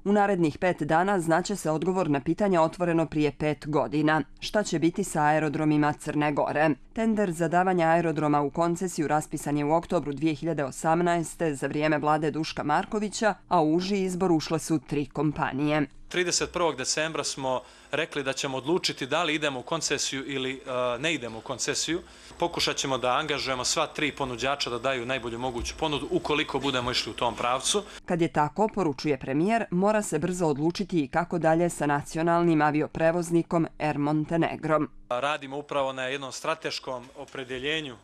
U narednih 5 dana znaće se odgovor na pitanje otvoreno prije 5 godina. Šta će biti sa aerodromima Crne Gore? Tender za davanje aerodroma u koncesiju raspisan je u oktobru 2018. za vrijeme vlade Duška Markovića, a u uži izbor ušle su 3 kompanije. 31. decembra smo rekli da ćemo odlučiti da li idemo u koncesiju ili ne idemo u koncesiju. Pokušat ćemo da angažujemo sva 3 ponuđača da daju najbolju moguću ponudu ukoliko budemo išli u tom pravcu. Kad je tako, poručuje premijer, mora se brzo odlučiti i kako dalje sa nacionalnim avioprevoznikom Air Montenegro. Radimo upravo na jednom strateškom opredjeljenju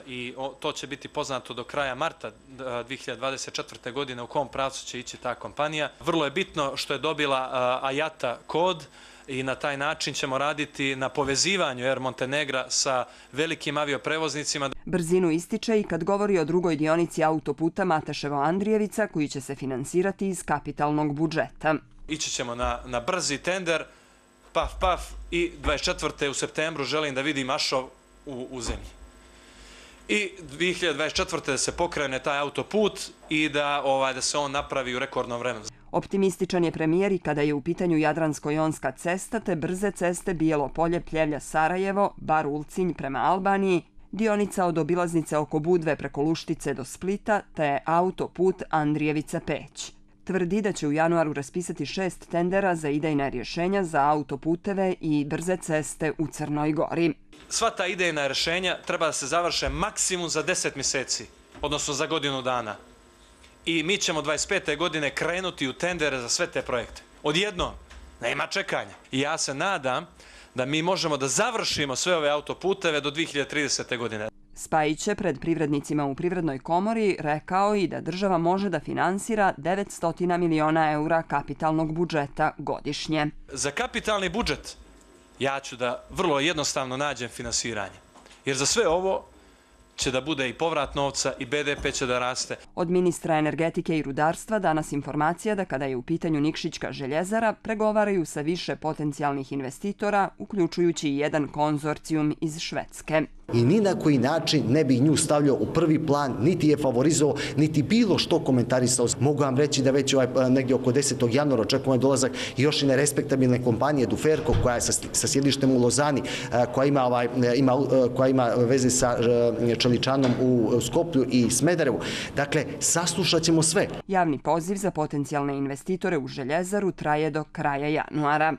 i to će biti poznato do kraja marta 2024. godine u kom pravcu će ići ta kompanija. Vrlo je bitno što je dobila AJATA kod i na taj način ćemo raditi na povezivanju Air Montenegra sa velikim avioprevoznicima. Brzinu ističe i kad govori o drugoj dionici autoputa Mateševo-Andrijevica koji će se finansirati iz kapitalnog budžeta. Ići ćemo na brzi tender, paf i 24. u septembru želim da vidim Ašov u zemlji. I 2024. da se pokrene taj autoput i da se on napravi u rekordnom vremenu. Optimističan je premijer i kada je u pitanju Jadransko-jonska cesta te brze ceste Bijelo Polje, Pljevlja, Sarajevo, Bar Ulcinj prema Albaniji, dionica od obilaznice oko Budve preko Luštice do Splita te autoput Andrijevica-Peć. Tvrdi da će u januaru raspisati 6 tendera za idejna rješenja za autoputeve i brze ceste u Crnoj Gori. Sva ta idejna rješenja treba da se završe maksimum za 10 mjeseci, odnosno za godinu dana. I mi ćemo 25. godine krenuti u tendere za sve te projekte. Odjednom, nema čekanja. I ja se nadam da mi možemo da završimo sve ove autoputeve do 2030. godine. Spajić je pred privrednicima u Privrednoj komori rekao i da država može da finansira 900 miliona eura kapitalnog budžeta godišnje. Za kapitalni budžet ja ću da vrlo jednostavno nađem finansiranje. Jer za sve ovo će da bude i povrat novca i BDP će da raste. Od ministra energetike i rudarstva danas informacija da kada je u pitanju Nikšićka željezara pregovaraju sa više potencijalnih investitora, uključujući i jedan konzorcijum iz Švedske. I ni na koji način ne bi nju stavljao u prvi plan, niti je favorizovao, niti bilo što komentarisao. Mogu vam reći da već negdje oko 10. januara očekujemo dolazak još i nerespektabilne kompanije Duferko koja je sa sjedištem u Lozani, koja ima veze sa čeličanom u Skoplju i Smederevu. Dakle, saslušat ćemo sve. Javni poziv za potencijalne investitore u željezaru traje do kraja januara.